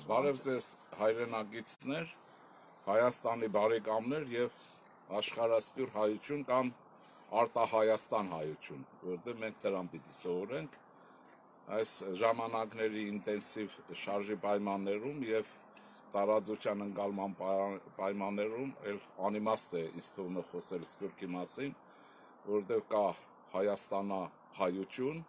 Բարև ձեզ հայրենագիցներ, Հայաստանի բարեկամներ և աշխարհասփյուռ հայություն կամ արտահայաստան հայություն, որտեղ մենք դրան պիտի սովորենք այս ժամանակների ինտենսիվ շարժի պայմաններում և տարածության ընկալման պայմաններում անիմաստ է ինձ թվում է խոսել սփյուռքի մասին, որտեղ կա հայաստանահայություն,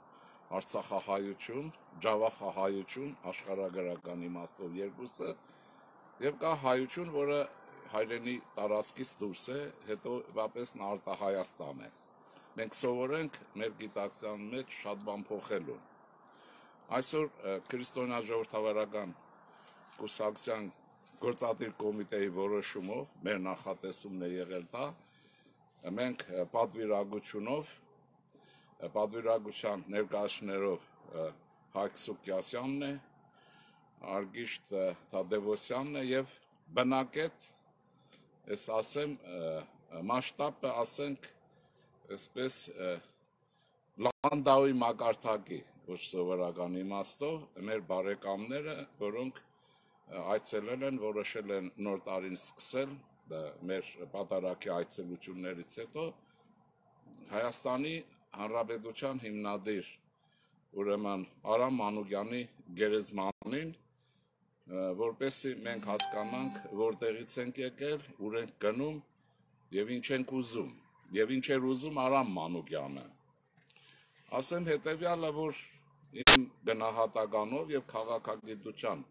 արցախահայություն, ջավախահայություն, աշխարհագրական իմաստով երկուսը, և կա հայություն, որը հայրենի տարածքից դուրս է, հետևաբար արտահայաստան է։ Մենք սովորենք մեր գիտակցության մեջ շատ բան փոխելու։ Այսօր քրիստոնյա ժողովրդավարական կուսակցության գործադիր կոմիտեի որոշումով մեր նախատեսումն է եղել դա, մենք պատվիրակության ներկայացնելով Հայկ Սուկյասյանն է, Արգիշտ Թադևոսյանն է և բնակետ, ես ասեմ, մասշտաբը ասենք, այսպես Լանդաուի մակարդակի, ոչ սովորական իմաստով, մեր բարեկամները, որոնք այցելել են, որոշել են նոր տարին սկսել, մեր պատարագի այցելություններից հետո, Հայաստանի Հանրապետության հիմնադիր ուրեմն Արամ Մանուկյանի գերեզմանին, որպեսզի մենք հասկանանք, որտեղից ենք եկել, ուր ենք գնում և ինչ ենք ուզում, և ինչ էր ուզում Արամ Մանուկյանը։ Ասեմ հետևյալը, որ իմ գնահատականով և քաղաքագիտության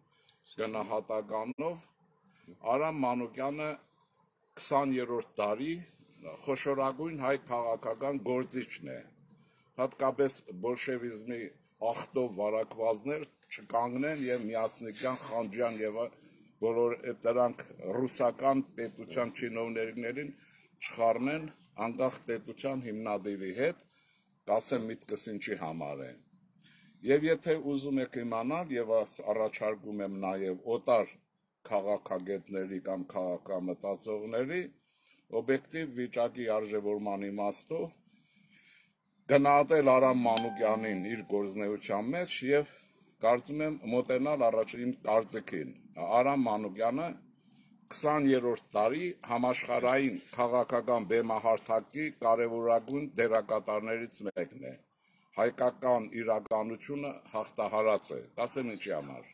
գնահատականով Արամ Մանուկյանը 20-րդ դարի խոշորագույն հայ քաղաքական գործիչն է, հատկապես բոլշևիզմի ախտով վարակվածներ չկանգնեն և միասնիկյան, խանջյան և բոլոր դրանք ռուսական պետության չինովներներին չխառնեն անկախ պետության հիմնադիրի հետ, կասեմ միտքս ինչի համար է։ Եվ եթե ուզում եք իմանալ, և առաջարկում եմ նաև օտար քաղաքագետների կամ քաղաքամտածողների օբյեկտիվ վիճակի արժևորման իմաստով գնահատել Արամ Մանուկյանին իր գործունեության մեջ և կարծում եմ մոտենալ առաջին կարծիքին։ Արամ Մանուկյանը 20-րդ դարի համաշխարհային քաղաքական բեմահարթակի կարևորագույն դերակատարներից մեկն է։ Հայկական իրականությունը հաղթահարած է, ասեմ ինչի համար։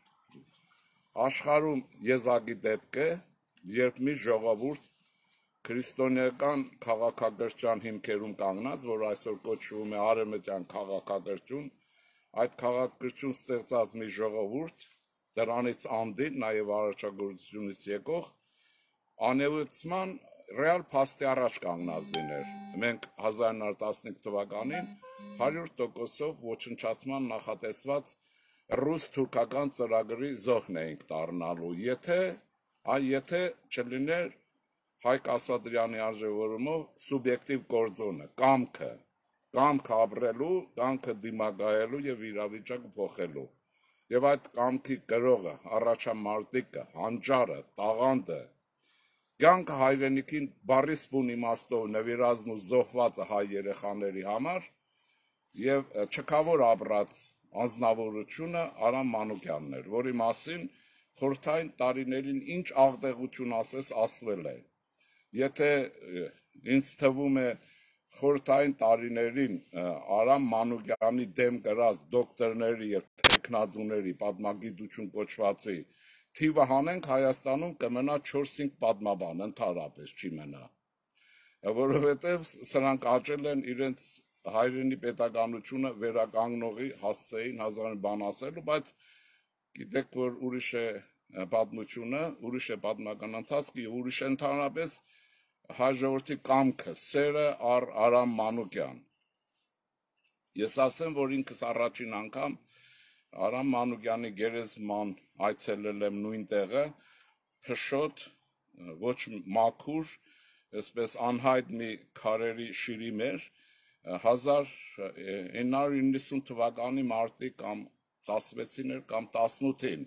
Աշխարհում եզակի դեպք է, երբ մի ժողովուրդ քրիստոնեական քաղաքակրթության հիմքերում կանգնած, որ այսօր կոչվում է արևմտյան քաղաքակրթություն, այդ քաղաքակրթություն ստեղծած մի ժողովուրդ, դրանից անդին, նաև առաջագործությունից եկող, անելիցման ռեալ փաստի առաջ կանգնած լիներ։ Մենք 1915 թվականին 100%-ով ոչնչացման նախատեսված ռուս-թուրքական ծրագրի զոհն էինք դառնալու, եթե չլիներ Հայկ Ասատրյանի արժևորումով սուբյեկտիվ գործոնը, կամքը ապրելու, կամքը դիմակայելու և իրավիճակը փոխելու։ Եվ այդ կամքի գրողը, առաջամարտիկը, հանճարը, տաղանդը, կյանքը հայրենիքին բառիս բուն իմաստով նվիրածն ու զոհվածը հայ երեխաների համար և չքավոր ապրած անձնավորությունը Արամ Մանուկյանն էր, որի մասին խորհրդային տարիներին ինչ աղտեղություն ասես ասվել է։ Եթե ինձ թվում է խորհրդային տարիներին Արամ Մանուկյանի դեմ գրած դոկտորների և թեկնածուների պատմագիտություն կոչվածի թիվը հանենք, Հայաստանում կմնա 4-5 պատմաբան, ընդհանրապես չի մնա, որովհետև սրանք աճել են իրենց հայրենի պետականությունը վերականգնողի հասցեին հազար բան ասելու, բայց գիտեք, որ ուրիշ է պատմությունը, ուրիշ է պատմական ընթացքը, ուրիշ է ընդհանրապես հայ ժողովրդի կամքը, սերը առ Արամ Մանուկյան։ Ես ասեմ, որ ինքս առաջին անգամ Արամ Մանուկյանի գերեզման այցելել եմ նույն տեղը, փշոտ, ոչ մաքուր, այսպես անհայտ մի քարերի շիրի մեր 1990 թվականի մարտի կամ 16-ին կամ 18-ին։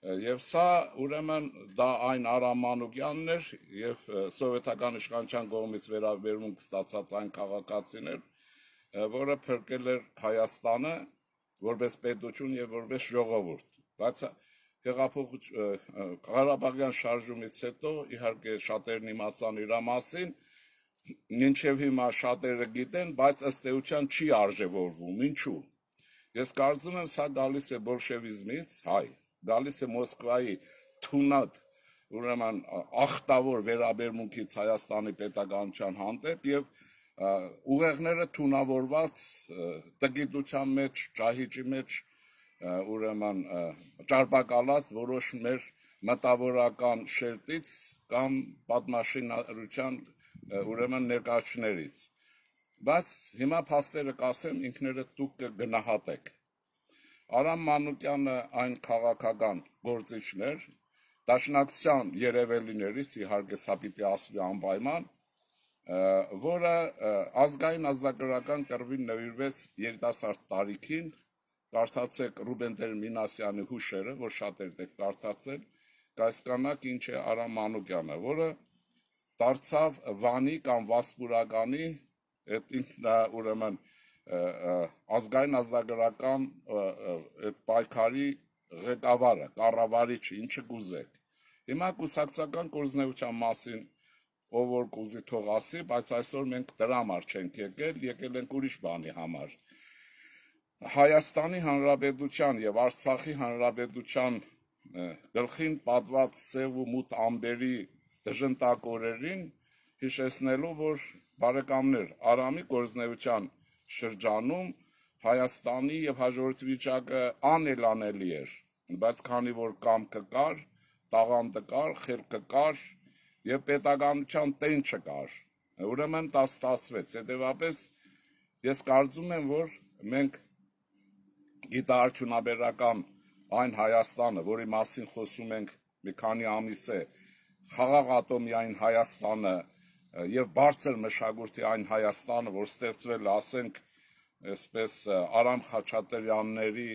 Եվ սա ուրեմն դա այն Արամ Մանուկյանն էր և սովետական իշխանության կողմից վերաբերմունք ստացած այն քաղաքացին էր, որը փրկել էր Հայաստանը որպես պետություն և որպես ժողովուրդ, բայց Ղարաբաղյան շարժումից հետո իհարկե շատերն իմացան իր մասին, մինչև հիմա շատերը գիտեն, բայց ըստ էության չի արժևորվում, ինչու։ Ես կարծում եմ սա գալիս է բոլշևիզմից, գալիս է Մոսկվայի թունատ, ուրեմն ախտավոր վերաբերմունքից Հայաստանի պետականության հանդեպ եւ ուղեղները թունավորված տգիտության մեջ, ճահիճի մեջ, ուրեմն ճարպակալած որոշ մեր մտավորական շերտից կամ պատմաշինարարության ուրեմն ներկայացուցիչներից, բայց հիմա փաստերը կասեմ ինքներդ դուք կգնահատեք։ Արամ Մանուկյանը այն քաղաքական գործիչն էր, Դաշնակցության երևելիներից, իհարկե սա պիտի ասվի անպայման, որը ազգային ազատագրական կռվին նվիրվեց երիտասարդ տարիքին, կարդացեք Ռուբեն Տեր-Մինասյանի հուշերը, որ շատերդ եք կարդացել, կհասկանաք ինչ է Արամ Մանուկյանը, որը դարձավ Վանի կամ Վասպուրականի ուրեմն ազգային ազատագրական պայքարի ղեկավարը, կառավարիչը, ինչը կուզեք։ Հիմա կուսակցական կորձնեության մասին ով որ կուզի թող ասի, բայց այսօր մենք դրա համար չենք եկել ենք ուրիշ բանի համար։ Հայաստանի Հանրապետության եւ Արցախի Հանրապետության գլխին պատված սև ու մութ ամբերի դժնտակ օրերին հիշեցնելու, որ բարեկամներ, Արամի կորձնեության շրջանում Հայաստանի եւ հաջորդ վիճակը անելանելի էր, բայց քանի որ կամքը կար, տաղանդը կար, խելքը կար եւ պետականության տեն չկար, ուրեմն դա ստացվեց։ Հետեւաբար ես կարծում եմ, որ մենք գիտաարդյունաբերական այն Հայաստանը, որի մասին խոսում ենք մի քանի ամիս է, խաղաղ ատոմիային Հայաստանը եւ բարձր մշակույթի այն Հայաստանը, որ ստեղծվել, ասենք, այսպես Արամ Խաչատրյանների,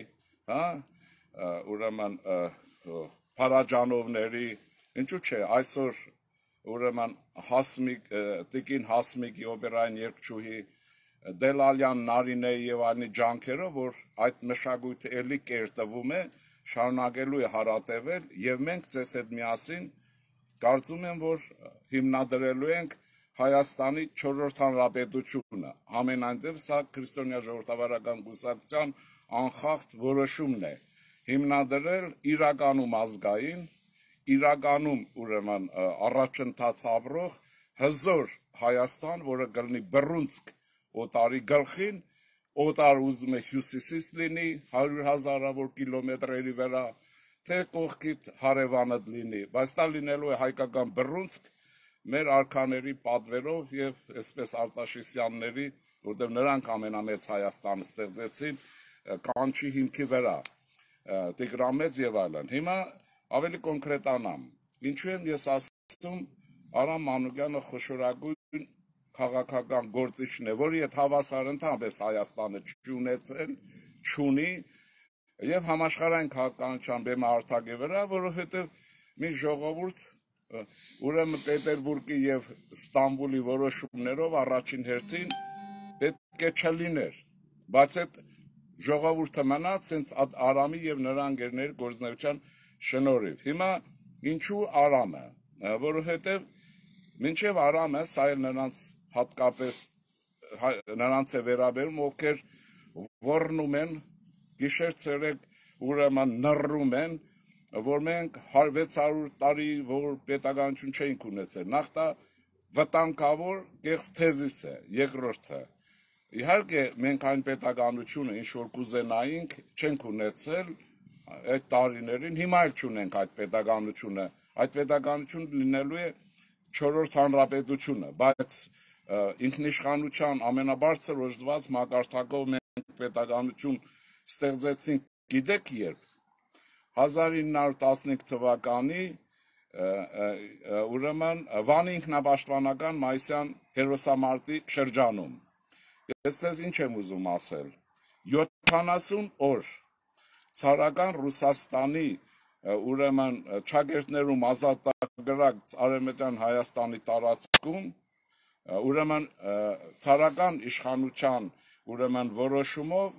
ուրեմն Փարաջանովների, ինչու՞ չէ, այսօր ուրեմն Տիկին Հասմիկի օպերային երգչուհի Դելալյան Նարինեի եւ այլնի ջանքերով, որ այդ մշակույթը էլի կերտվում է, շարունակելու է հարատևել եւ մենք ձեզ հետ միասին կարծում եմ, որ հիմնադրելու ենք Հայաստանի 4-րդ հանրապետությունը, համենայնդեպ սա քրիստոնյա ժողովրդավարական կուսակցության անխախտ որոշումն է, հիմնադրել իրականում ազգային, իրականում ուրեմն առաջընթաց ապրող հզոր Հայաստան, որը կլինի բռունցք օտարի գլխին, օտար ուզում է հյուսիսից լինի 100,000-ավոր կիլոմետրերի վրա, թե կողքիդ հարևանդ լինի, բայց դա լինելու է հայկական բռունցք մեր արքաների պատվերով եւ այսպես Արտաշեսյանների, որտեղ նրանք ամենամեծ Հայաստանը ստեղծեցին կանչի հիմքի վրա, Տիգրամեծ եւ այլն։ Հիմա ավելի կոնկրետանամ, ինչու եմ ես ասում Արամ Մանուկյանը խոշորագույն քաղաքական գործիչն է, որի հետ հավասար ընդհանրապես Հայաստանը չունեցել, չունի եւ համաշխարհային քաղաքականության բեմահարթակի վրա, որովհետեւ մի ժողովուրդ ուրեմն Պետերբուրգի եւ Ստամբուլի որոշումներով առաջին հերթին պետք է չլիներ, բայց այդ ժողովուրդը մնաց հենց Արամի եւ նրա ընկերների գործունեության շնորհիվ։ Հիմա ինչու Արամը, որովհետեւ մինչեւ Արամը սա էլ նրանց հատկապես նրանց է վերաբերում, ովքեր ոռնում են գիշեր ցերեկ ուրեմն նռում են, որ մենք 600 տարի որ պետականություն չենք ունեցել, նախ դա վտանգավոր կեղծ թեզիս է, երկրորդը իհարկե մենք այն պետականությունը ինչ որ կուզենայինք չենք ունեցել այդ տարիներին, հիմա էլ չունենք այդ պետականությունը լինելու է 4-րդ հանրապետությունը, բայց ինքնիշխանության ամենաբարձր օժտված մակարդակով մենք պետականություն ստեղծեցինք, գիտեք երբ 1915 թվականի ուրեմն Վանի ինքնապաշտպանական մայիսյան հերոսամարտի շրջանում։ Ես ձեզ ինչ եմ ուզում ասել, 70 օր ցարական Ռուսաստանի ուրեմն ճակերտներում ազատագրած Արևմտյան Հայաստանի տարածքում ուրեմն ցարական իշխանության ուրեմն որոշումով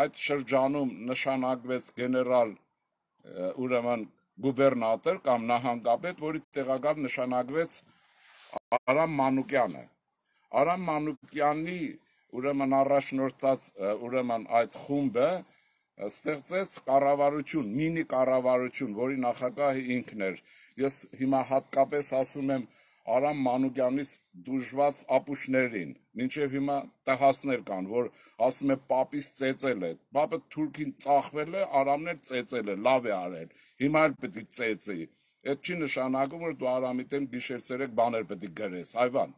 այդ շրջանում նշանակվեց գեներալ ուրեմն գուբերնատոր կամ նահանգապետ, որի տեղակալ նշանակվեց Արամ Մանուկյանը։ Արամ Մանուկյանի ուրեմն առաջնորդած ուրեմն այդ խումբը ստեղծեց կառավարություն, մինի կառավարություն, որի նախագահը ինքն էր։ Ես հիմա հատկապես ասում եմ Արամ Մանուկյանից դժված ապուշներին, մինչև հիմա տղասներ կան, որ ասում է պապից ծեծել է, պապը թուրքին ծախվել է, Արամն էլ ծեծել է, լավ է արել, հիմա էլ պետք է ծեծի։ Այդ չի նշանակում, որ դու Արամի դեմ գիշեր-ցերեկ բաներ պետք է գրես, այվան,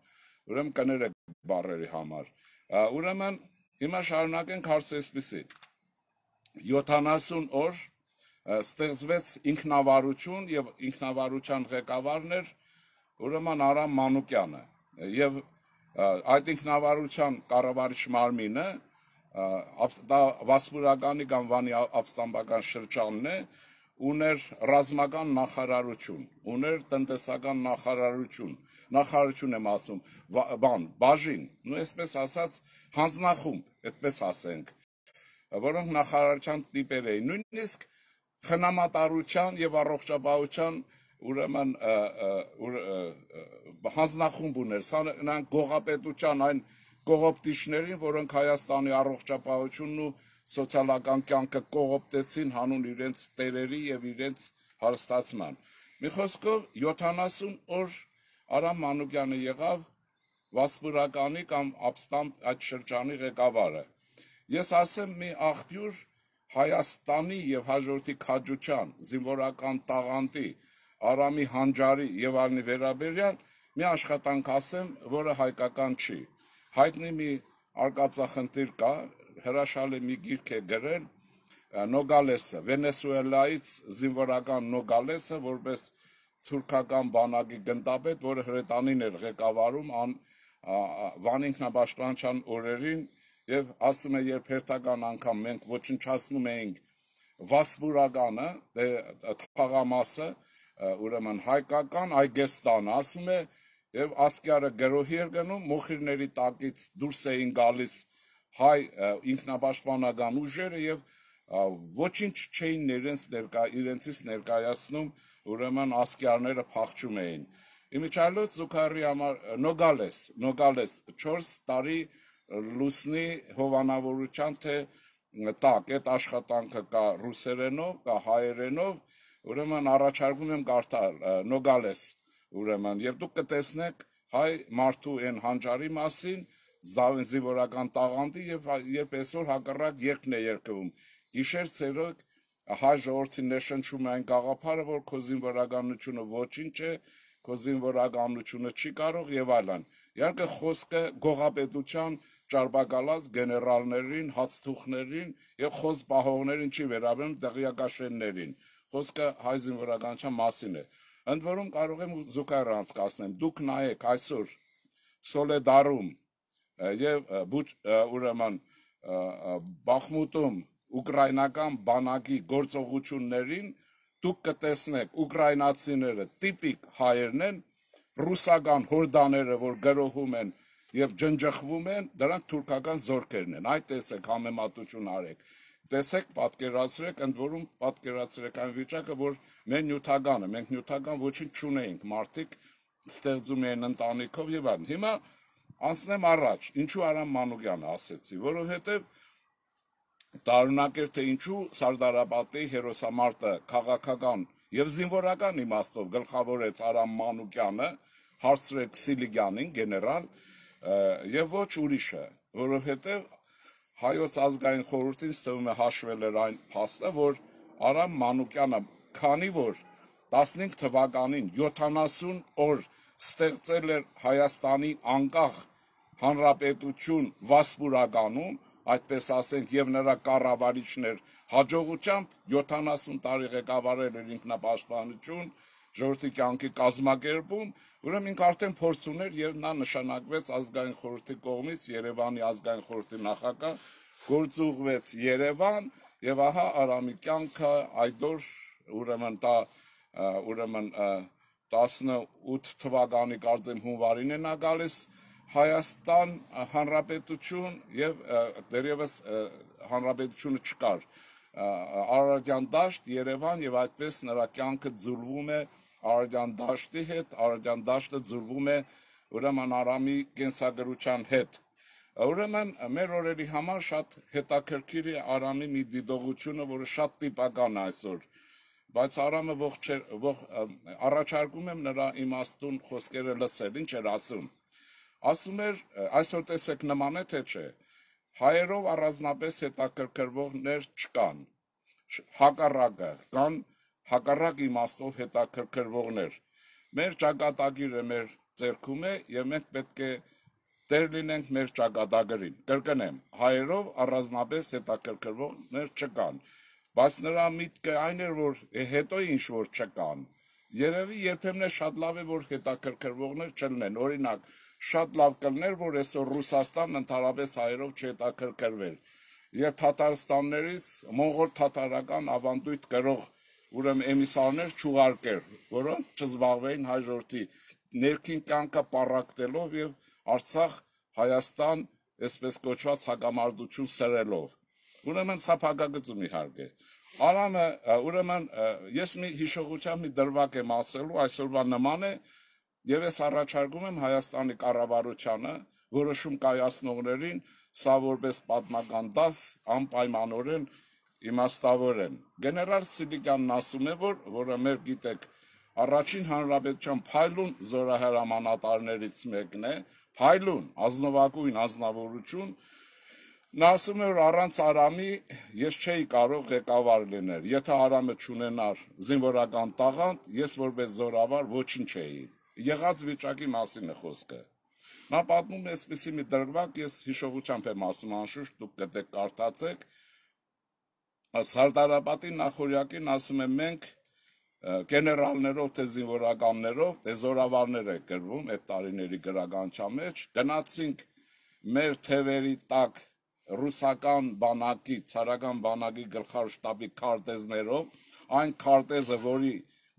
ուրեմն կներեք բառերի համար։ Ուրեմն հիմա շարունակենք հարցը այսպիսի։ 70 օր ստեղծվեց ինքնավարություն եւ ինքնավարության ղեկավարն էր ուրեմն Արամ Մանուկյանը եւ այդ ինքնավարության կառավարիչ մարմինը դա Վասպուրականի կամ Վանի ապստամբական շրջանն է, ուներ ռազմական նախարարություն, ուներ տնտեսական նախարարություն եմ ասում, բաժին, նույն այսպես ասած հանձնախումբ, այդպես ասենք, որոնք նախարարության տիպեր էին, նույնիսկ խնամատարության եւ առողջապահության ուրեմն հանձնախումբ ուներ, սա նրանք գողապետության այն կողոպտիչներին, որոնք Հայաստանի առողջապահությունն ու սոցիալական կյանքը կողոպտեցին հանուն իրենց տերերի եւ իրենց հարստացման։ Մի խոսքով 70 օր Արամ Մանուկյանը եղավ Վասպուրականի կամ ապստամբ այդ շրջանի ղեկավարը։ Ես ասեմ մի աղբյուր Հայաստանի եւ հաջորդի քաջության, զինվորական տաղանդի, Արամի հանջարի եւ այլնի վերաբերյալ մի աշխատանք ասեմ, որը հայկական չի։ Հայտնի մի արկածախնդիր կա, հրաշալի մի գիրք է գրել Նոգալեսը, Վենեսուելայից զինվորական Նոգալեսը, որպես թուրքական բանակի գնդապետ, որը հրետանին էր ղեկավարում Վանի ինքնապաշտպանության օրերին եւ ասում է, երբ հերթական անգամ մենք ոչնչացնում էինք Վասպուրականը, թաղամասը, ուրեմն հայկական Այգեստան, ասում է, եւ ասկյարը գրոհի էր գնում, մոխիրների տակից դուրս էին գալիս հայ ինքնապաշտպանական ուժերը եւ ոչինչ չէին իրենցից ներկայացնում, ուրեմն ասկյարները փախչում էին։ Իմիջիայլոց Զուքարի համար Նոգալես 4 տարի լուսնի հովանավորության թե տակ, այդ աշխատանքը կա ռուսերենով, կա հայերենով, ուրեմն առաջարկում եմ կարդալ Նոգալես, ուրեմն եւ դուք կտեսնեք հայ մարդու այն հանջարի մասին, զինվորական տաղանդի եւ երբ այսօր հակառակ երկն է երկվում։ Գիշեր ցերեկ հայ ժողովրդին ներշնչում է այն գաղափարը, որ քո զինվորականությունը ոչինչ է, քո զինվորականությունը չի կարող եւ այլն։ Իհարկե խոսքը գողապետության ճարպակալած գեներալներին, հացթուխներին եւ խոսպահողներին չի վերաբերում տեղյակաշեններին։ Խոսքը հայ զինվորականության մասին է։ Ընդ որում կարող եմ զուգահեռ անցկացնեմ։ Դուք նայեք այսօր Սոլեդարում եւ ուրեմն Բախմուտում ուկրաինական բանակի գործողություններին դուք կտեսնեք ուկրաինացիները տիպիկ հայերն են, ռուսական հորդաները, որ գրոհում են եւ ջնջխվում են, դրանք թուրքական զորքերն են։ Այդ տեսեք, համեմատություն արեք։ Տեսեք, պատկերացրեք, ընդ որում պատկերացրեք այն վիճակը, որ մեր նյութականը, մենք նյութական ոչինչ չունեինք, մարդիկ ստեղծում էին ընտանիքով եւ այլն։ Հիմա անցնեմ առաջ, ինչու Արամ Մանուկյանը ասեցի, որովհետեւ տարօրինակ էր, թե ինչու Սարդարապետի հերոսամարտը քաղաքական եւ զինվորական իմաստով գլխավորեց Արամ Մանուկյանը, հարցրեք Սիլիգյանին, գեներալ, եւ ոչ ուրիշը, որովհետեւ Հայոց ազգային խորհրդին ստվում է հաշվել էր այն փաստը, որ Արամ Մանուկյանը, քանի որ 15 թվականին 70 օր ստեղծել էր Հայաստանի անկախ հանրապետություն Վասպուրականում, այդպես ասենք, եւ նրա կառավարիչներ հաջողությամբ 70 տարի ղեկավարել էր ինքնապաշտպանություն, ժողովրդի կյանքի կազմակերպում, ուրեմն ինքը արդեն փորձ ուներ եւ նա նշանակվեց ազգային խորհրդի կողմից Երևանի ազգային խորհրդի նախագահ, գործուղվեց Երևան եւ ահա Արամի կյանքը այդօր ուրեմն 18 թվականի կարծեմ հունվարին է նա գալիս Հայաստան Հանրապետություն եւ դերևս հանրապետությունը չկար Արարատյան դաշտ, Երևան եւ այդպես նրա կյանքը ձուլվում է Արարատյան դաշտի հետ, Արարատյան դաշտը ձուլվում է ուրեմն Արամի կենսագրության հետ։ Ուրեմն մեր օրերի համար շատ հետաքրքիր է Արամի մի դիտողությունը, որը շատ տիպական է այսօր, բայց Արամը առաջարկում եմ նրա իմաստուն խոսքերը լսել, ինչ էր ասում։ Ասում էր, այսօր տեսեք նման է թե չէ, հայերով առանձնապես հետաքրքրվողներ չկան, հակառակը, կան հակառակ իմաստով հետաքրքրվողներ։ Մեր ճակատագիրը մեր ձեռքում է եւ մենք պետք է տեր լինենք մեր ճակատագրին։ Կրկնեմ, հայերով առանձնապես հետաքրքրվողներ չկան, բայց նրա միտքը այն էր, որ հետո ինչ որ չկան։ Երևի երբեմն շատ լավ է, որ հետաքրքրվողներ չլինեն։ Օրինակ, շատ լավ կլներ, որ այսօր Ռուսաստանն ընդհանրապես հայերով չհետաքրքրվեր, եւ Թաթարստաններից մոնղոլ թաթարական ավանդույթ կրող ուրեմն էմիսարներ չուղարկեր, որոնք չզբաղվեին հայ ժողովրդի ներքին կյանքը պառակտելով եւ Արցախ, Հայաստան, այսպես կոչված հակամարտություն սրելով։ Ուրեմն սա փակագծում իհարկե։ Արամը ուրեմն ես մի հիշողությամբ մի դրվագ եմ ասելու, այսօրվա նման է, եւ ես առաջարկում եմ Հայաստանի կառավարությանը, որոշում կայացնողներին, սա որպես պատմական դաս անպայմանորեն իմաստավորեն։ Գեներալ Սիլիկյանն ասում է, որը մեր գիտեք, առաջին հանրապետության փայլուն զորահրամանատարներից մեկն է, փայլուն, ազնվագույն ազնվորություն, նա ասում է, որ առանց Արամի ես չէի կարող ղեկավար լինել, եթե Արամը չունենար զինվորական տաղանդ, ես որպես զորավար ոչինչ չէի։ Եղած վիճակի մասին է խոսքը։ Նա պատմում է այսպիսի մի դրվագ, ես հիշողությամբ եմ ասում, անշուշտ դուք կտեք կարդացեք։ Սարդարապետի նախորյակին ասում եմ մենք գեներալներով թե զինվորականներով, թե զորավարներ է գրվում այդ տարիների գրականության մեջ, գնացինք մեր թևերի տակ ռուսական բանակի, ցարական բանակի գլխավոր շտաբի քարտեզներով, այն քարտեզը, որի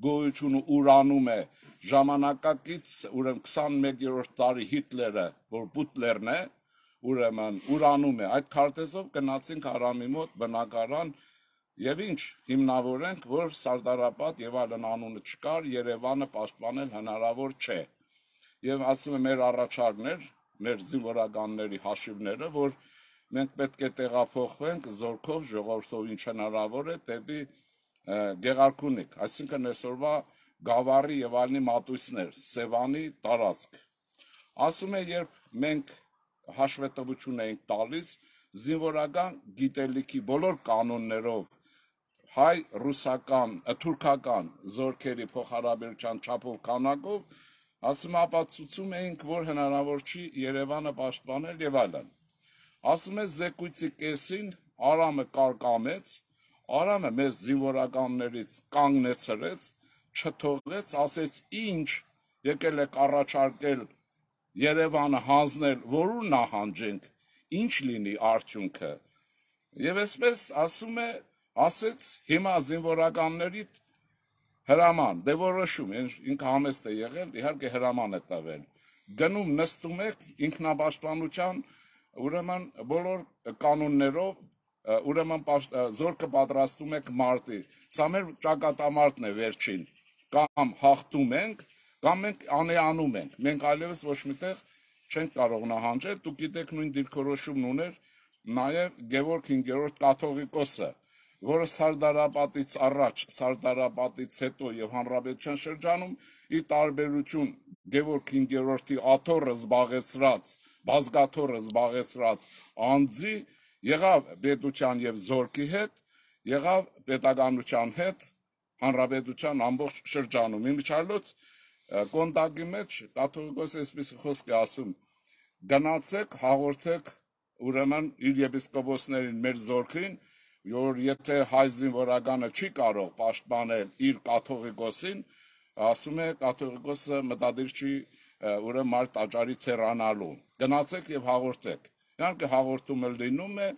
գոյությունը ուրանում է ժամանակակից ուրեմն 21-րդ դարի Հիտլերը, որ Բուտլերն է, ուրեմն ուրանում է, այդ քարտեզով գնացինք Արամի մոտ բնակարան եւ ինչ հիմնավորենք, որ Սարդարապատ եւ այլն անունը չկար, Երևանը պաշտպանել հնարավոր չէ։ Եվ ասում է մեր առաջարկներ, մեր զինվորականների հաշիվները, որ մենք պետք է տեղափոխվենք զորքով, ժողովրդով ինչ հնարավոր է դեպի Գեղարքունիք, այսինքն այսօրվա Գավառի եւ այլնի մատույցներ, Սևանի տարածք։ Ասում է, երբ մենք հաշվետվություն էինք տալիս զինվորական գիտելիքի բոլոր կանոններով հայ, ռուսական, թուրքական զորքերի փոխհարաբերության չափով քանակով, ասում ապացուցում էինք, որ հնարավոր չի Երևանը պաշտպանել եւ այլն։ Ասում է զեկույցի կեսին Արամը կարկամեց, Արամը մեզ զինվորականներից կանգնեցրեց, չթողեց, ասեց ինչ եկել եք առաջարկել Երևանը հանձնել, որու նահանջենք, ինչ լինի արդյունքը։ Եվ այսպես ասում է, ասեց հիմա զինվորականներիդ հրաման, դե որոշում, ինքը համեստ է եղել, իհարկե հրաման է տվել։ Գնում նստում եք ինքնապաշտպանության ուրեմն բոլոր կանոններով, ուրեմն զորքը պատրաստում եք մարտի։ Սա մեր ճակատամարտն է վերջին, կամ հաղթում ենք, կամ մենք անեանում ենք։ Մենք այլևս ոչ միտեղ չենք կարող նահանջել, դուք գիտեք նույն դիրքորոշումն ուներ նաև Գևորգ 5-րդ կաթողիկոսը, որը Սարդարապետից առաջ, Սարդարապետից հետո եւ հանրապետության շրջանում ի տարբերություն Գևորգ 5-րդի աթոռը զբաղեցրած, բազգաթոռը զբաղեցրած անձի եղավ պետության եւ զորքի հետ, եղավ պետականության հետ, հանրապետության ամբողջ շրջանում։ Իմիջիայլոց կոնտակտի մեջ կաթողիկոսը այսպես խոսք է ասում. գնացեք, հաղորդեք ուրեմն իր եպիսկոպոսներին մեր զորքին, որ եթե հայ զինվորականը չի կարող պաշտպանել իր կաթողիկոսին, ասում է կաթողիկոսը մտադիր չի ուրեմն մարդ տաճարից հեռանալու։ Գնացեք եւ հաղորդեք։ Իհարկե հաղորդումը լինում է,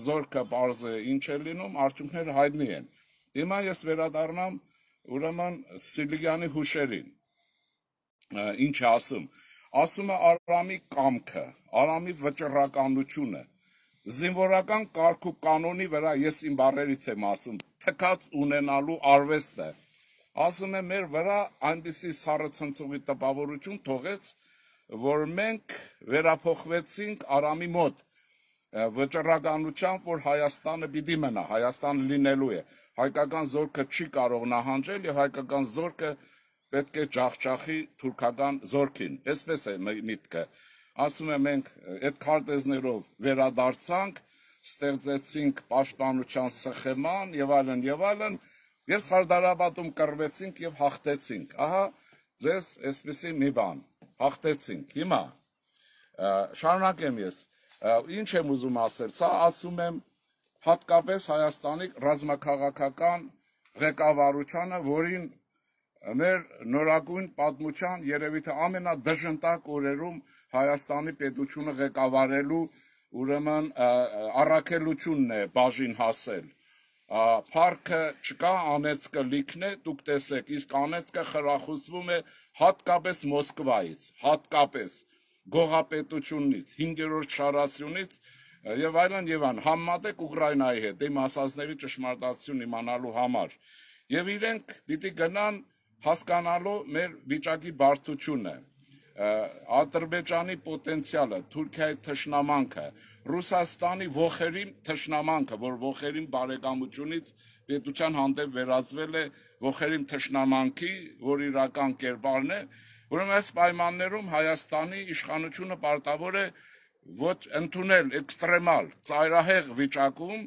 զորքը պարզ է ինչ է լինում, արդյունքները հայտնի են։ Հիմա ես վերադառնամ ուրեմն Սիլիկյանի հուշերին։ Ինչ է ասում։ Ասում է Արամի կամքը, Արամի վճռականությունը, զինվորական կարգ ու կանոնի վրա ես իմ բառերից եմ ասում, թքած ունենալու արվեստ է։ Ասում եմ, մեր վրա այնպիսի սառը ցնցուղի տպավորություն թողեց, որ մենք վերափոխվեցինք Արամի մոտ վճռականությամբ, որ Հայաստանը պիտի մնա, Հայաստանը լինելու է։ Հայկական զորքը չի կարող նահանջել եւ հայկական զորքը պետք է ջախջախի թուրքական զորքին։ Այսպես է միտքը։ Ասում եմ, մենք այդ քարտեզներով վերադարձանք, ստեղծեցինք պաշտպանության սխեման եւ այլն, եւ Սարդարապատում կռվեցինք եւ հաղթեցինք։ Ահա ձեզ այսպեսի մի բան, հաղթեցինք։ Հիմա շարունակեմ ես։ Ինչ եմ ուզում ասել, սա ասում եմ հատկապես Հայաստանի ռազմաքաղաքական ղեկավարությանը, որին մեր նորագույն պատմության երևի թե ամենադժնդակ օրերում Հայաստանի պետությունը ղեկավարելու ուրեմն առաքելությունն է բաժին հասել։ Փառքը չկա, անեծքը լիքն է, դուք տեսեք, իսկ անեծքը խրախուսվում է հատկապես Մոսկվայից, հատկապես գողապետությունից, 5-րդ շարասյունից եւ այլն, համեմատեք Ուկրաինայի հետ, դեմ ասածների ճշմարտացիություն իմանալու համար։ Եվ իրենք պիտի գնան հասկանալու մեր վիճակի բարդությունը, Ադրբեջանի պոտենցիալը, Թուրքիայի թշնամանքը, Ռուսաստանի ողերիմ թշնամանքը, որ ողերիմ բարեկամությունից պետության հանդեպ վերածվել է ողերիմ թշնամանքի, որ իրական կերպարն է, ուրեմն այս պայմաններում Հայաստանի իշխանությունը պարտավոր է ոչ ընդունել էքստրեմալ, ծայրահեղ վիճակում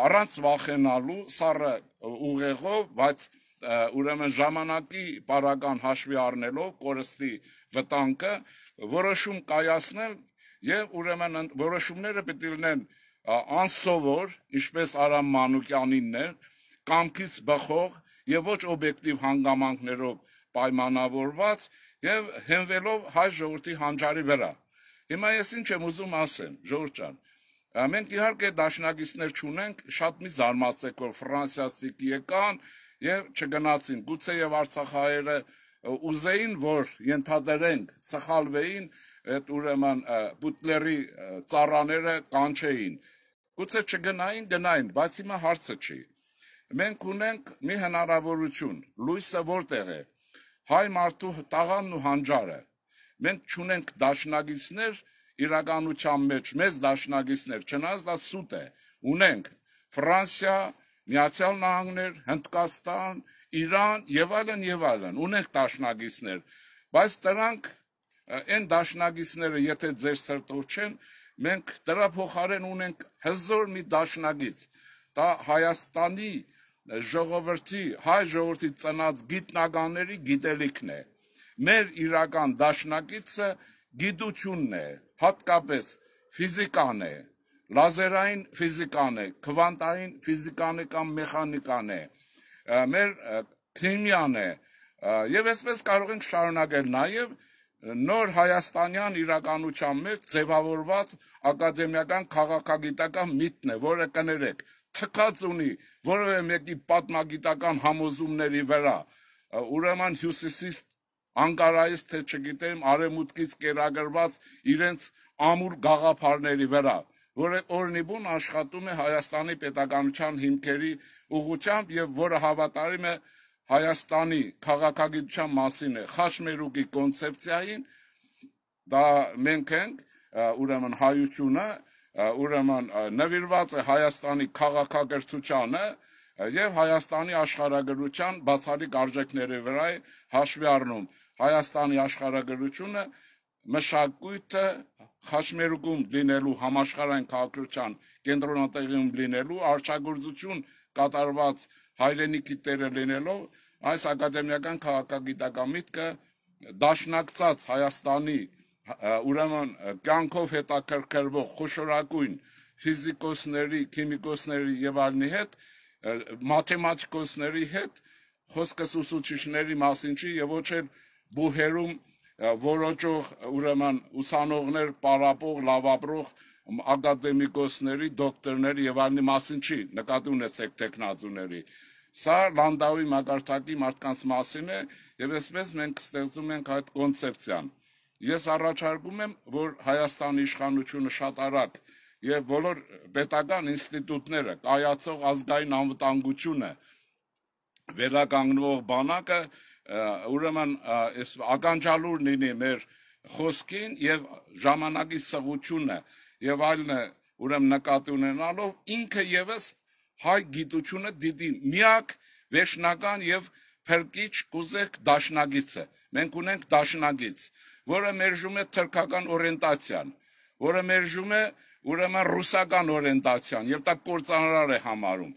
առանց վախենալու սառը ուղեղով, բայց ուրեմն ժամանակի պարագան հաշվի առնելով կորստի վտանգը որոշում կայացնել եւ ուրեմն որոշումները պետք է լինեն անսովոր, ինչպես Արամ Մանուկյանինն է, կամքից բխող եւ ոչ օբյեկտիվ հանգամանքներով պայմանավորված եւ հենվելով հայ ժողովրդի հանճարի վրա։ Հիմա ես ինչ եմ ուզում ասեմ, ժողովուրդ ջան, մենք իհարկե դաշնակիցներ չունենք, շատ մի զարմացեք, որ ֆրանսիացիք եկան եւ չգնացին, գուցե եւ արցախահայերը ուզեին, որ ենթադրենք սխալվեին, այդ ուրեմն բուտլերի ծառաները կանչեին, գուցե չգնային, գնային, բայց հիմա հարցը չի։ Մենք ունենք մի հնարավորություն, լույսը որտեղ է, հայ մարդու տաղանն ու հանճարը։ Մենք չունենք դաշնակիցներ իրականության մեջ, մեծ դաշնակիցներ, չնայած դա սուտ է, ունենք Ֆրանսիա, Միացյալ Նահանգներ, Հնդկաստան, Իրան եւ այլն, ունենք դաշնակիցներ, բայց դրանք այն դաշնակիցները, եթե ձեր սրտով չեն, մենք դրա փոխարեն ունենք հզոր մի դաշնակից, դա Հայաստանի ժողովրդի, հայ ժողովրդի ծնած գիտնականների գիտելիքն է։ Մեր իրական դաշնակիցը գիտությունն է, հատկապես ֆիզիկան է, լազերային ֆիզիկան է, քվանտային ֆիզիկան է կամ մեխանիկան է, մեր քիմիան է, եւ այսպես կարող ենք շարունակել նաեւ նոր հայաստանյան իրականության մեջ ձևավորված ակադեմիական քաղաքագիտական միտքն է, որը կներեք, թքած ունի որևէ մեկի պատմագիտական համոզումների վրա, ուրեմն հյուսիսից Անկարայից թե չգիտեմ արևմուտքից կերակրված իրենց ամուր գաղափարների վրա, որը օրնիբուն աշխատում է Հայաստանի պետականության հիմքերի ուղղությամբ եւ որը հավատարիմ է Հայաստանի քաղաքագիտության մասին է Խաչմերուկի կոնցեպցիային, դա մենք ենք, ուրեմն հայությունը, ուրեմն նվիրված է Հայաստանի քաղաքակրթությանը եւ Հայաստանի աշխարհագրության բացառիկ արժեքների վրա է հաշվի առնում Հայաստանի աշխարհագրությունը մշակույթը Խաչմերուկում լինելու համաշխարհային քաղաքական կենտրոնատեղիում լինելու արչագործություն կատարված հայրենիքի տերը լինելով այս ակադեմիական քաղաքագիտական միտքը դաշնակցած Հայաստանի ուրեմն կյանքով հետաքրքրվող խոշորագույն ֆիզիկոսների, քիմիկոսների եւ այլնի հետ մաթեմատիկոսների հետ խոսքս ուսուցիչների մասին չի եւ ոչ էլ բուհերում որոճող ուրեմն ուսանողներ, պարապող, լավապրող ակադեմիկոսների, դոկտորների եւ այլնի մասին չի, նկատի ունեցեք տեխնազուների։ Սա Լանդաուի մակարդակի մարդկանց մասին է եւ այսպես մենք ստեղծում ենք այդ կոնցեպցիան։ Ես առաջարկում եմ, որ Հայաստանի իշխանությունը շատ արագ եւ բոլոր պետական ինստիտուտները, կայացող ազգային անվտանգությունը, վերականգնող բանակը ուրեմն այս ականջալուր լինի մեր խոսքին եւ ժամանակի սղությունը եւ այլն ուրեմն նկատի ունենալով ինքը եւս հայ գիտությունը դիտի միակ վերջնական եւ փրկիչ կուզեք դաշնագիցը մենք ունենք դաշնագիծ որը մերժում է թրքական օրիենտացիան որը մերժում է ուրեմն ռուսական օրիենտացիան եւ դա կործանարար է համարում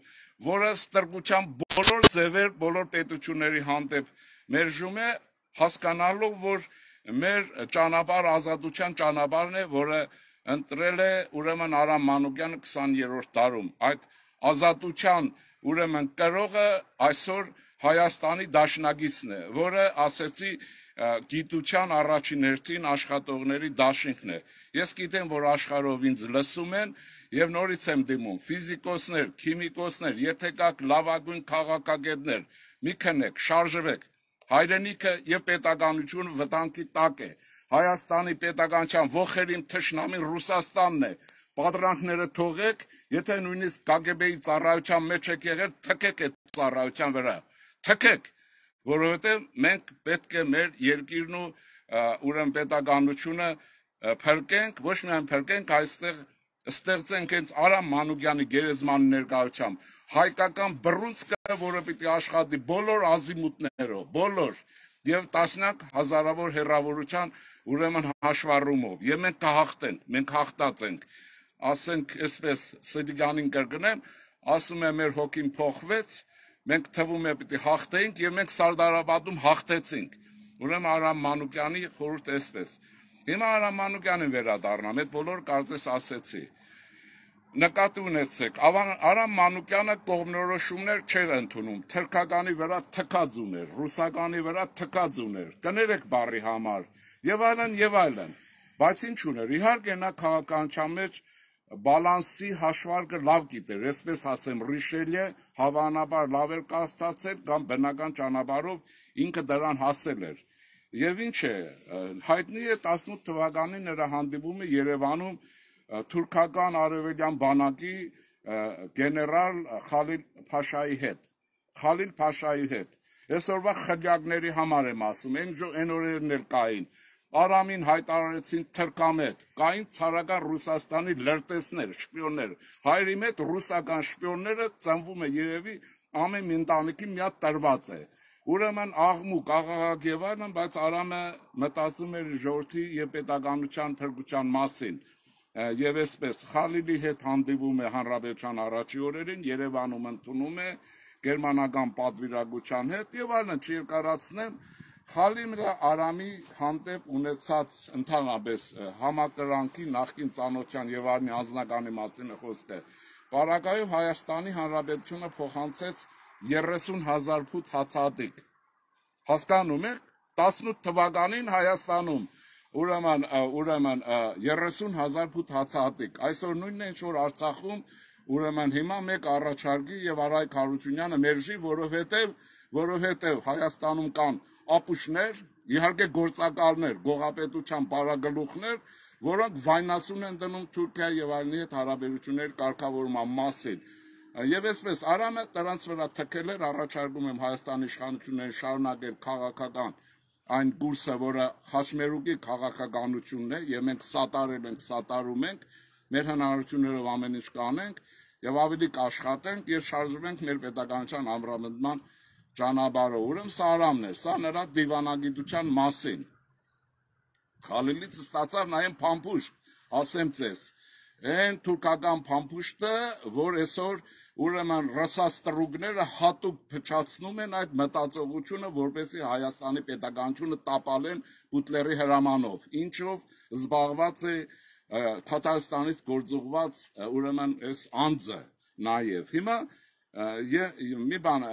որը ստրկության բոլոր ձևեր բոլոր պետությունների հանդեպ մերժում է հասկանալով որ մեր ճանապարհ ազատության ճանապարհն է որը ընտրել է ուրեմն Արամ Մանուկյանը 20-րդ դարում այդ ազատության ուրեմն կրողը այսօր Հայաստանի դաշնագիծն է որը ասեցի գիտության առաջին հերթին աշխատողների դաշինքն է ես գիտեմ որ աշխարհով ինձ լսում են եւ նորից եմ դիմում ֆիզիկոսներ քիմիկոսներ եթե կաք լավագույն քաղաքագետներ մի քնեք շարժվեք հայրենիքը եւ պետականությունը վտանգի տակ է Հայաստանի պետականության ողերիմ թշնամին Ռուսաստանն է պատրանքները թողեք եթե նույնիսկ KGB-ի ծառայության մեջ եք եղել թքեք այդ ծառայության վրա թքեք որովհետեւ մենք պետք է մեր երկիրն ու ուրեմն պետականությունը փրկենք ոչ միայն փրկենք այստեղ ստեղծենք հենց Արամ Մանուկյանի գերեզմանի ներկայությամբ հայկական բռունցքը որը պիտի աշխատի բոլոր ազիմուտներով բոլոր եւ տասնյակ հազարավոր հեռավորության ուրեմն հաշվառումով եւ մենք կհաղթենք մենք հաղթած ենք ասենք այսպես Սեդիգանին կրկնեմ ասում է մեր հոգին փոխվեց մենք թվում է պիտի հաղթենք եւ մենք Սարդարաբադում հաղթեցինք ուրեմն Արամ Մանուկյանի խորհուրդ այսպես հիմա Արամ Մանուկյանին վերադառնամ այդ բոլոր կարծես ասեցի նկատի ունեցեք Արամ Մանուկյանը կողմնորոշումներ չէր ընդունում թրքականի վրա թքած ուներ ռուսականի վրա թքած ուներ կներեք բառի համար եւ այլն բայց ինչ ուներ իհարկե նա քաղաքականության մեջ բալանսի հաշվարկը լավ գիտեր այսպես ասեմ Ռիշելյե հավանաբար լավ էր կաստացել կամ բնական ճանապարհով ինքը դրան հասել էր եւ ինչ է հայտնի է 18 թվականին նրա հանդիպումը Երևանում թուրքական արևելյան բանակի գեներալ Խալիլ Փաշայի հետ այսօրվա խլյակների համար եմ ասում այն օրերն էլ կային Արամին հայտարարեցին թրքամետ կային ցարական Ռուսաստանի լրտեսներ շպիոններ հայրի մեջ ռուսական շպիոնները ծնվում է երևի ամեն ընտանիքի մի հատ տրված է ուրեմն աղմուկ աղաղակ եւ այլն բայց Արամը մտածում էր ժողովրդի եւ պետականության փրկության մասին եւ այսպես Խալիլի հետ հանդիպում է հանրապետության առաջի օրերին Երևանում ընդունում է գերմանական պատվիրակության հետ եւ այլն չերկարացնեմ Խալիլը Արամի հանդեպ ունեցած ընդհանրապես համակրանքի նախկին ծանոթության եւ այլն անձնականի մասին է խոսքը Պարագայով Հայաստանի Հանրապետությունը փոխանցեց 30,000 ֆուտ հացահատիկ հասկանում եք 18 թվականին Հայաստանում ուրեմն 30,000 ֆուտ հացահատիկ այսօր նույնն է ինչ որ Արցախում ուրեմն հիմա մեկ առաջարկի եւ Արայք Հարությունյանը մերժի որովհետեւ Հայաստանում կան ապուշներ իհարկե գործակալներ գողապետության բարագլուխներ որոնք վայնասուն են դնում Թուրքիա եւ այլնի հետ հարաբերությունների կարգավորման մասին եւ այսպես Արամը դրանց վրա թքել էր առաջարկում եմ Հայաստանի իշխանություններին շարունակել քաղաքական այն կուրսը որը Խաչմերուկի քաղաքականությունն է եւ մենք սատարել ենք սատարում ենք մեր հնարավորություններով ամեն ինչ կանենք եւ ավելի կաշխատենք եւ շարժվենք մեր պետականության ամրապնդման ճանապարհով ուրեմն սա Արամն էր սա նրա դիվանագիտության մասին Խալիլից ստացավ նաեւ փամփուշտ ասեմ ձեզ այն թուրքական փամփուշտը որ այսօր ուրեմն ռասաստրուկները հատուկ փչացնում են այդ մտածողությունը որպեսզի Հայաստանի պետականությունը տապալեն Բուտլերի հրամանով ինչով զբաղված է Թաթարստանից գործուղված ուրեմն այս անձը նաեւ հիմա մի բան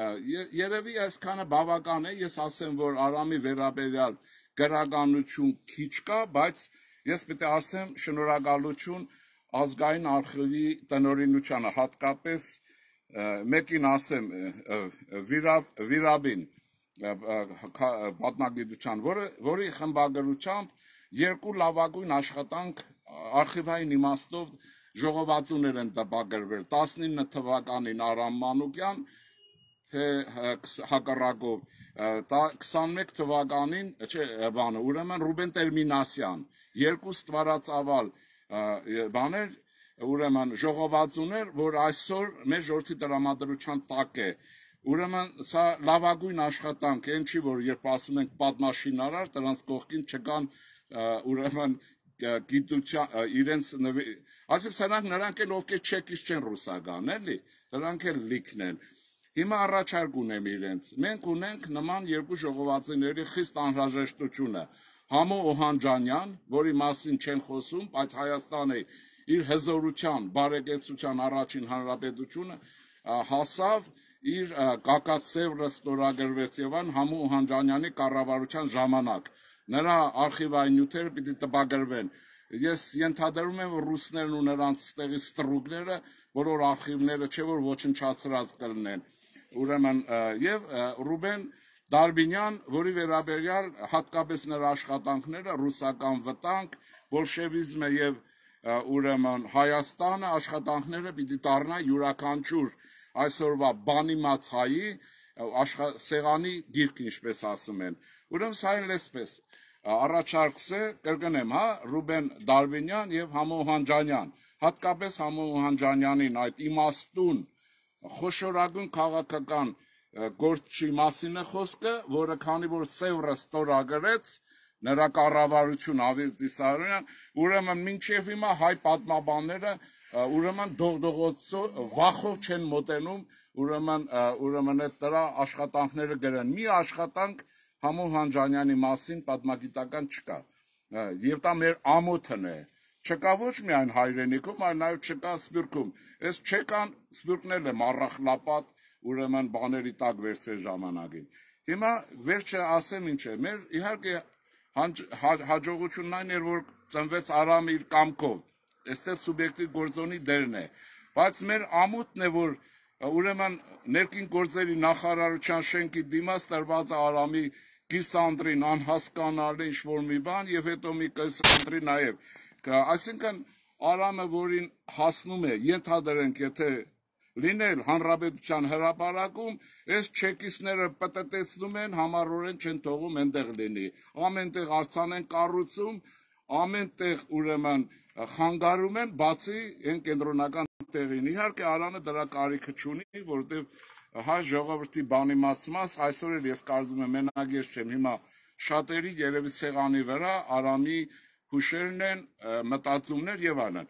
երևի այսքանը բավական է ես ասեմ որ Արամի վերաբերյալ գրականություն քիչ կա բայց ես պետք է ասեմ շնորհակալություն ազգային արխիվի տնօրինությանը հատկապես մեկին ասեմ Վիրաբին պատմագիտության որի խմբագրությամբ երկու լավագույն աշխատանք արխիվային իմաստով ժողովածուներ են տպագրվել 19 թվականին Արամ Մանուկյան, թե հակառակով 21 թվականին, չէ, բանը, ուրեմն Ռուբեն Տեր-Մինասյան, երկու ստվարածավալ բաներ, ուրեմն ժողովածուներ, որ այսօր մեր ժողովրդի տրամադրության տակ է։ Ուրեմն սա լավագույն աշխատանք է, ինչի որ երբ ասում ենք պատմաշինարար, դրանց կողքին չկան ուրեմն գիտության իրենց այսինքն նրանք էլ ովքեր չեկից չեն ռուսական, էլի, դրանք էլ լիքն են։ Հիմա առաջարկ ունեմ իրենց։ Մենք ունենք նման երկու ժողովածուների խիստ անհրաժեշտությունը։ Համո Օհանջանյան, որի մասին չեն խոսում, բայց Հայաստանը իր հզորության, բարեկեցության առաջին հանրապետությունը հասավ իր կակած սևրը ստորագրվեց եւ այն Համո Օհանջանյանի կառավարության ժամանակ նրա արխիվային նյութերը պիտի տպագրվեն։ Ես ենթադրում եմ, որ ռուսներն ու նրանց ստեղի ստրուկները բոլոր արխիվները չէ որ ոչնչացրած կլինեն։ Ուրեմն եւ Ռուբեն Դարբինյան, որի վերաբերյալ հատկապես նրա աշխատանքները ռուսական վտանգ, բոլշևիզմը եւ ուրեմն Հայաստանը աշխատանքները պիտի դառնա յուրաքանչյուր այսօրվա բանիմաց հայի սեղանի գիրք, ինչպես ասում են։ Ուրեմն սա էլ էսպես առաջարկս է, կրկնեմ, հա, Ռուբեն Դարբինյան եւ Համո Օհանջանյան, հատկապես Համո Օհանջանյանին այդ իմաստուն խոշորագույն քաղաքական գործի մասին է խոսքը, որը քանի որ Սևրը ստորագրեց նրա կառավարություն Ավետիսարյան, ուրեմն մինչև հիմա հայ պատմաբանները ուրեմն դողդողոցով վախով չեն մոտենում, ուրեմն այդ դրա աշխատանքները գրեն։ Մի աշխատանք Համո Օհանջանյանի մասին պատմագիտական չկա։ Եվ դա մեր ամոթն է։ Չկա ոչ միայն հայրենիքում, այլ նաև չկա Սփյուռքում։ Այս չեկան Սփյուռքն էլ մառախլապատ ուրեմն բաների տակ վերցրել ժամանակին։ Հիմա վերջը ասեմ ինչ է, մեր իհարկե հաջողությունն այն էր, որ ծնվեց Արամը իր կամքով, այստեղ սուբյեկտիվ գործոնի դերն է, բայց մեր ամոթն է, որ ուրեմն ներքին գործերի նախարարության շենքի դիմաց տրված Արամի կիսանդրին անհասկանալի ինչ-որ մի բան եւ հետո մի կիսանդրի նաեւ, այսինքն Արամը, որին հասնում է, ենթադրենք, եթե լինել հանրապետության հրապարակում, այս չեկիստները պտտեցնում են, համառորեն չեն թողում այնտեղ լինի։ Ամեն տեղ արձան են կառուցում, ամեն տեղ ուրեմն խանգարում են, բացի այն կենտրոնական տեղին։ Իհարկե Արամը դրա կարիքը չունի, որովհետև հայ ժողովրդի բանիմացմաս այսօր էլ ես կարծում եմ մենակ ես չեմ, հիմա շատերի երևի սեղանի վրա Արամի հուշերն են, մտածումներ եւ այլն։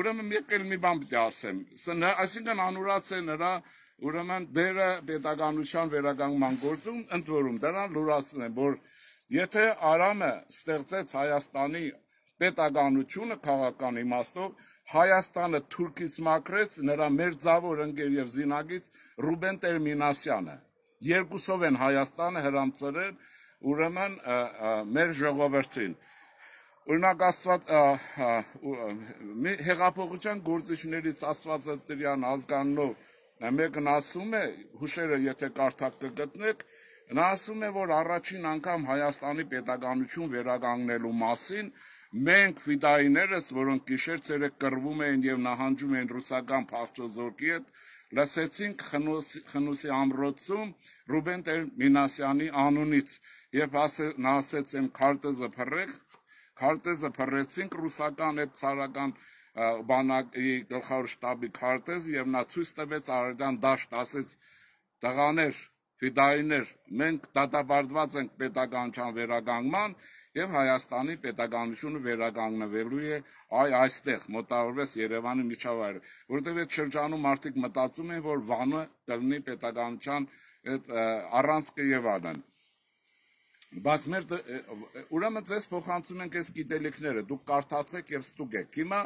Ուրեմն մեկ էլ մի բան պիտի ասեմ, այսինքն անուրաց է նրա ուրեմն դերը պետականության վերականգնման գործում, ընդ որում դրան լուրացնեմ, որ եթե Արամը ստեղծեց Հայաստանի պետականությունը քաղաքական իմաստով, Հայաստանը թուրքից մաքրեց նրա մերձավոր ընկեր եւ զինագից Ռուբեն Տեր-Մինասյանը։ Երկուսով են Հայաստանը հրամցրել ուրեմն մեր ժողովրդին։ Օրինակ հեղափոխության գործիչներից Աստվածատրյան ազգանունով մեկն ասում է, հուշերը եթե կարդաք կգտնեք, նա ասում է, որ առաջին անգամ Հայաստանի պետականություն վերականգնելու մասին մենք ֆիդայիներս, որոնք գիշեր-ցերեկ կռվում էին եւ նահանջում էին ռուսական փախչոզորքի հետ, լսեցինք Խնուսի ամրոցում Ռուբեն Տեր-Մինասյանի անունից եւ նա ասեց եմ քարտեզը փռեցինք ռուսական այդ ցարական բանակի գլխավոր շտաբի քարտեզը եւ նա ցույց տվեց Արարատյան դաշտ, ասեց տղաներ, ֆիդայիներ, մենք դատապարտված ենք պետականության վերականգնման եւ Հայաստանի պետականությունը վերականգնվելու է այստեղ մոտավորապես Երևանի միջավայրը, որովհետեւ այդ շրջանում մարդիկ մտածում են, որ Վանը կլինի պետականության այդ առանցքը եւ այլն։ Բայց մեր ուրեմն ձեզ փոխանցում ենք այս գիտելիքները, դուք կարդացեք եւ ստուգեք։ Հիմա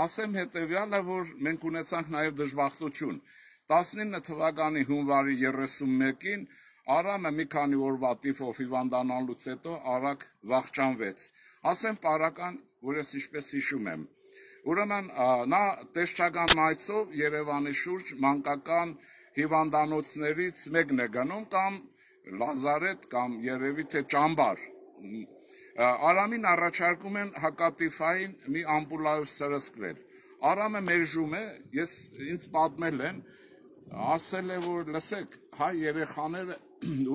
ասեմ հետեւյալը, որ մենք ունեցանք նաեւ դժբախտություն։ 19 թվականի հունվարի 31-ին Արամը մի քանի օրվա տիֆով հիվանդանալուց հետո արագ վախճանվեց։ Ասեմ պարական, որ ես ինչպես հիշում եմ։ Ուրեմն նա տեսչական այցով Երևանի շուրջ մանկական հիվանդանոցներից մեկն է գնում կամ Լազարետ կամ երևի թե ճամբար։ Արամին առաջարկում են հակատիֆային մի ամպուլայով սրսկվել։ Արամը մերժում է, ես ինձ պատմել են, ասել է, որ լսեք, հայ երեխաները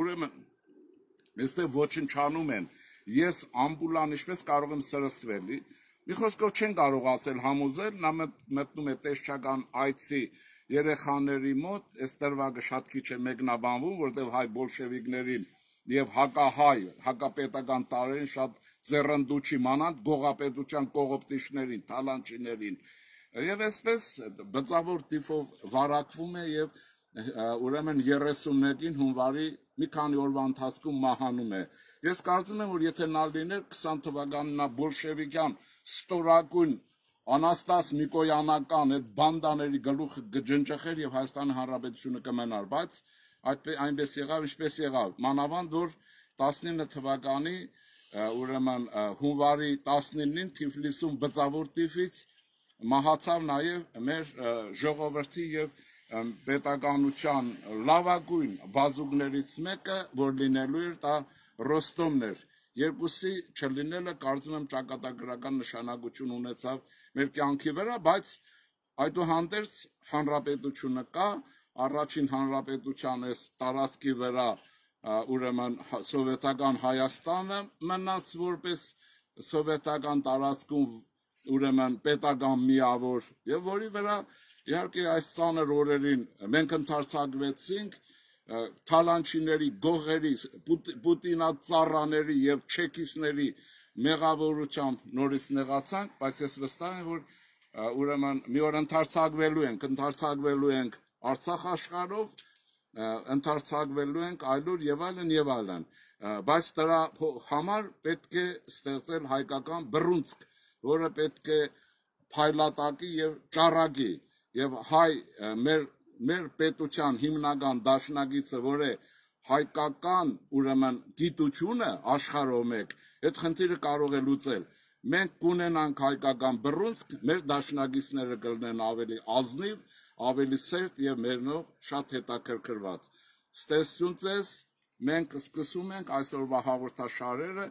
ուրեմն այստեղ ոչնչանում են, ես ամբուլան ինչպես կարող եմ սրսկվել, մի խոսքով չեն կարողացել համոզել, նա մտնում է տեսչական այցի երեխաների մոտ, այս տրվագը շատ քիչ է մեկնաբանվում, որտեղ հայ բոլշևիկներին եւ հակահայ, հակապետական տարերին շատ ձեռնդու չիմանան գողապետության կողոպտիչներին, թալանչիներին, եւ այսպես բծավոր տիպով վարակվում է եւ ուրեմն 31-ին հունվարի մի քանի օրվա ընթացքում մահանում է։ Ես կարծում եմ, որ եթե նա լիներ 20 թվականին նա բոլշևիկյան ստորագույն Անաստաս Նիկոյանական այդ բանդաների գլուխը կջնջխեր եւ Հայաստանի Հանրապետությունը կմնար, բայց այնպես եղավ, ինչպես եղավ։ Մանավանդ որ 19 թվականի ուրեմն հունվարի 19-ին Թիֆլիսում բծավոր տիպից մահացավ նաեւ մեր ժողովրդի եւ պետականության լավագույն բազուկներից մեկը, որ լինելու էր դա Ռոստոմն էր։ Երկուսի չլինելը կարծում եմ ճակատագրական նշանակություն ունեցավ մեր կյանքի վրա, բայց այդուհանդերձ հանրապետությունը կա, առաջին հանրապետության այս տարածքի վրա ուրեմն սովետական Հայաստանը մնաց որպես սովետական տարածքում ուրեմն պետական միավոր եւ որի վրա իհարկե այս ծանր օրերին մենք ընդարձակվեցինք թալանչիների, գողերի, պուտինացառաների եւ չեկիստների մեղավորությամբ նորից նեղացանք, բայց ես վստահ եմ, որ ուրեմն մի օր ընդարձակվելու ենք Արցախ աշխարհով, ընդարձակվելու ենք այլուր եւ այլն, բայց դրա համար պետք է ստեղծել հայկական բռունցք, որը պետք է փայլատակի եւ ճառագի եւ հայ մեր պետության հիմնական դաշնակիցը, որ է հայկական ուրեմն գիտությունը աշխարհով մեկ, այդ խնդիրը կարող է լուծել։ Մենք կունենանք հայկական բռունցք, մեր դաշնակիցները կլինեն ավելի ազնիվ, ավելի սերտ եւ մերնով շատ հետաքրքրված։ Ստեսություն ձեզ, մենք սկսում ենք այսօրվա հաղորդաշարերը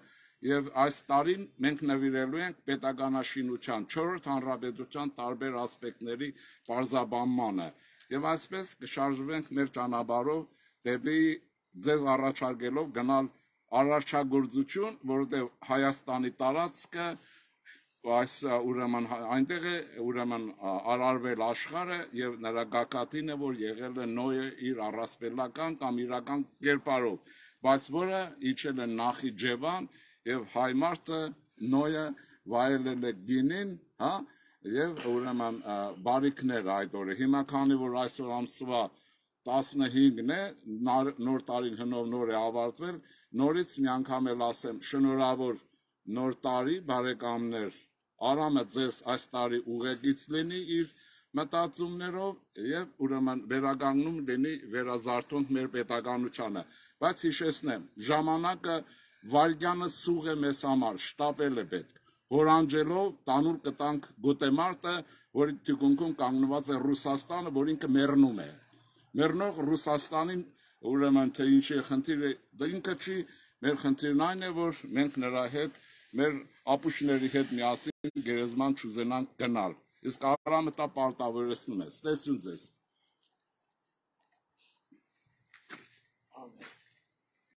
եւ այս տարին մենք նվիրելու ենք պետականաշինության 4-րդ հանրապետության տարբեր ասպեկտների բարձաբանմանը եւ այսպես կշարժվենք մեր ճանապարհով դեպի ձեզ առաջարկելով գնալ արարչագործություն, որովհետեւ Հայաստանի տարածքը այս ուրեմն այնտեղ է ուրեմն արարվել աշխարհը եւ նրա գագաթինը, որ եղել է Նոյը իր առասպելական կամ իրական կերպարով, բայց որը իջել է Նախիջևան եւ հայ մարդը Նոյը վայելել է գինին, հա, եւ ուրեմն բարիքներ այդ օրը։ Հիմա քանի որ այսօր ամսվա 15-ն է, նոր տարին հնով նոր է ավարտվել, նորից մի անգամ էլ ասեմ շնորհավոր նոր տարի, բարեկամներ, Արամը ձեզ այս տարի ուղեկից լինի իր մտածումներով եւ ուրեմն վերականգնում լինի վերազարթոնք մեր պետականությանը, բայց հիշեցնեմ, ժամանակը վարգյանը սուղ է մեզ համար, շտապել է պետք, հորանջելով տանուլ կտանք գոտեմարտը, որի թիկունքում կանգնված է Ռուսաստանը, որ ինքը մեռնում է, մեռնող Ռուսաստանին ուրեմն թե ինչի խնդիրը, դա ինքը չի, մեր խնդիրն այն է, որ մենք նրա հետ մեր ապուշների հետ միասին գերեզման չուզենանք գնալ, իսկ Արամը դա պարտավորեցնում է, ստեսություն ձեզ։